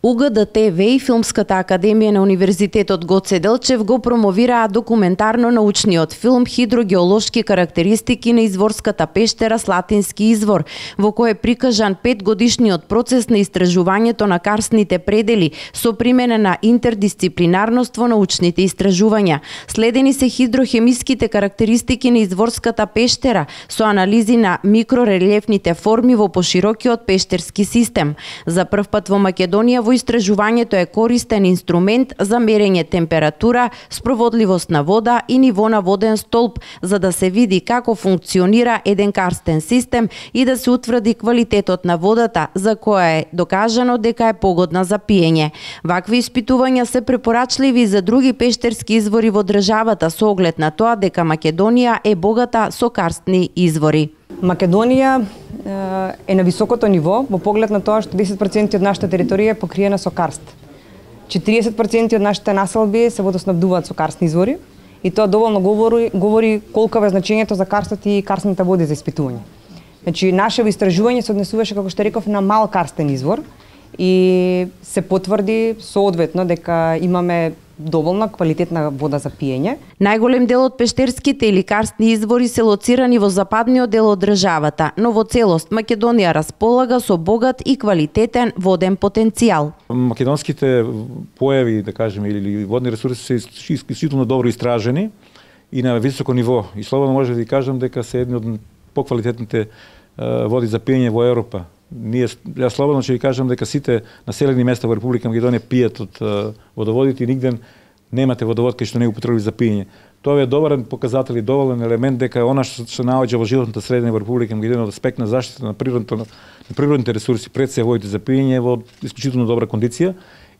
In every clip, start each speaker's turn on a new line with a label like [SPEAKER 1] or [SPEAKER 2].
[SPEAKER 1] УГД-ТВ и Филмската академија на Универзитетот Гоце Делчев го промовираа документарно-научниот филм «Хидрогеолошки карактеристики на изворската пештера Слатински извор», во кој е прикажан 5-годишниот процес на истражувањето на карстните предели со примена на интердисциплинарност во научните истражувања. Следени се хидрохемиските карактеристики на изворската пештера со анализи на микрорелјефните форми во поширокиот пештерски систем. За прв пат во Македонија во истражувањето е користен инструмент за мерење температура, спроводливост на вода и ниво на воден столб, за да се види како функционира еден карстен систем и да се утврди квалитетот на водата, за која е докажано дека е погодна за пиење. Вакви испитувања се препорачливи за други пештерски извори во државата со оглед на тоа дека Македонија е богата со карстни извори.
[SPEAKER 2] Македонија е на високото ниво во поглед на тоа што 10% од нашата територија е покриена со карст. 40% од нашите населби се водоснабдуваат со карстни извори и тоа доволно говори колку е значењето за карстот и карстната вода за испитување. Значи, наше истражување се однесуваше, како што реков, на мал карстен извор и се потврди соодветно дека имаме доволна квалитетна вода за пиење.
[SPEAKER 1] Најголем дел од пештерските или карстни извори се лоцирани во западниот дел од државата, но во целост Македонија располага со богат и квалитетен воден потенцијал.
[SPEAKER 3] Македонските појави, да кажеме, или водни ресурси се исклучително добро истражени и на високо ниво. И слободно може да ви кажам дека се едни од поквалитетните води за пиење во Европа. Јас слободно ќе ви кажам дека сите населени места во Република Македонија пијат од водоводите и нигде немате водовод кај што не го употреби за пиење. Тоа е добар показател и доволен елемент дека она што се наоѓа во животната средина во Република Македонија од аспект на заштита на природните ресурси, пред се водите за пиење, во исклучително добра кондиција.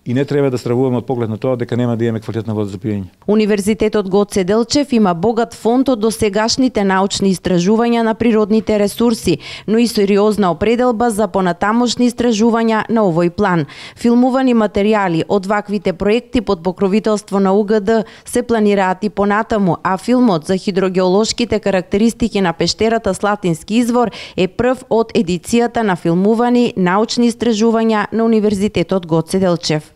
[SPEAKER 3] И не треба да стравуваме од поглед на тоа дека нема да имаме квалитетна вода за пиење.
[SPEAKER 1] Универзитетот Гоце Делчев има богат фонд од досегашните научни истражувања на природните ресурси, но и сериозна определба за понатамошни истражувања на овој план. Филмувани материјали од ваквите проекти под покровителство на УГД се планираат и понатаму, а филмот за хидрогеолошките карактеристики на пештерата Слатински извор е прв од едицијата на филмувани научни истражувања на Универзитетот Гоце Делчев.